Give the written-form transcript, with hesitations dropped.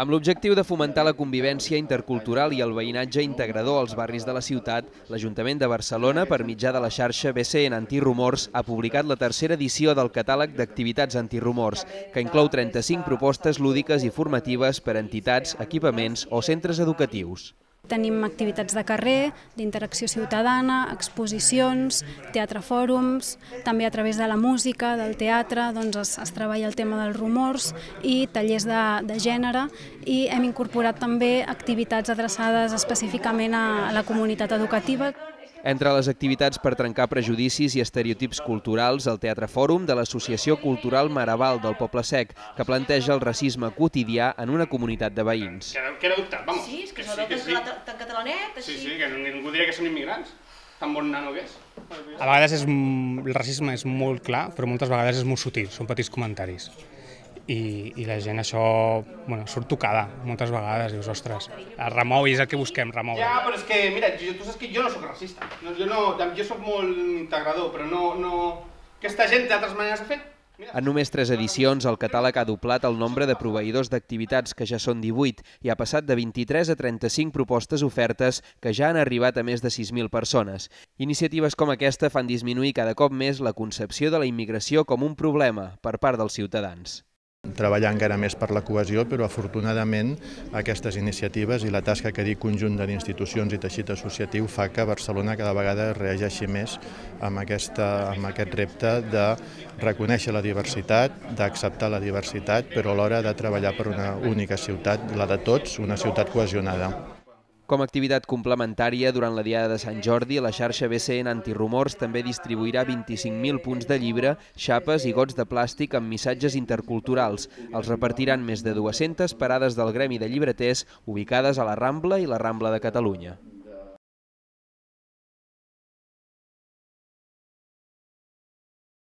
Amb l'objectiu de fomentar la convivència intercultural i el veïnatge integrador als barris de la ciutat, l'Ajuntament de Barcelona, per mitjà de la xarxa BCN Antirumors, ha publicat la tercera edició del catàleg d'activitats antirumors, que inclou 35 propostes lúdiques i formatives per a entitats, equipaments o centres educatius. Tenim activitats de carrer, d'interacció ciutadana, exposicions, teatre-fòrums, també a través de la música, del teatre, es treballa el tema dels rumors i tallers de gènere, i hem incorporat també activitats adreçades específicament a la comunitat educativa. Entre les activitats per trencar prejudicis i estereotips culturals, el Teatre Fòrum de l'Associació Cultural Maraval del Poble Sec, que planteja el racisme quotidià en una comunitat de veïns. Que era adoptat, vamos. Sí, és que s'ho tan catalanet, així. Sí, que ningú diria que són immigrants. Tan bon nano que és. A vegades el racisme és molt clar, però moltes vegades és molt sutil, són petits comentaris. I la gent això surt tocada moltes vegades, dius, ostres, es remou i és el que busquem, remoure. Ja, però és que, mira, tu saps que jo no soc racista, jo soc molt integrador, però no... Aquesta gent té altres maneres de fer. En només 3 edicions, el catàleg ha doblat el nombre de proveïdors d'activitats, que ja són 18, i ha passat de 23 a 35 propostes ofertes que ja han arribat a més de 6.000 persones. Iniciatives com aquesta fan disminuir cada cop més la concepció de la immigració com un problema per part dels ciutadans. Treballar encara més per la cohesió, però afortunadament aquestes iniciatives i la tasca que dic conjunt d'institucions i teixit associatiu fa que Barcelona cada vegada reageixi més amb aquest repte de reconèixer la diversitat, d'acceptar la diversitat, però alhora de treballar per una única ciutat, la de tots, una ciutat cohesionada. Com a activitat complementària, durant la Diada de Sant Jordi, la xarxa BCN Antirumors també distribuirà 25.000 punts de llibre, xapes i gots de plàstic amb missatges interculturals. Els repartiran més de 200 parades del gremi de llibreters ubicades a la Rambla i la Rambla de Catalunya.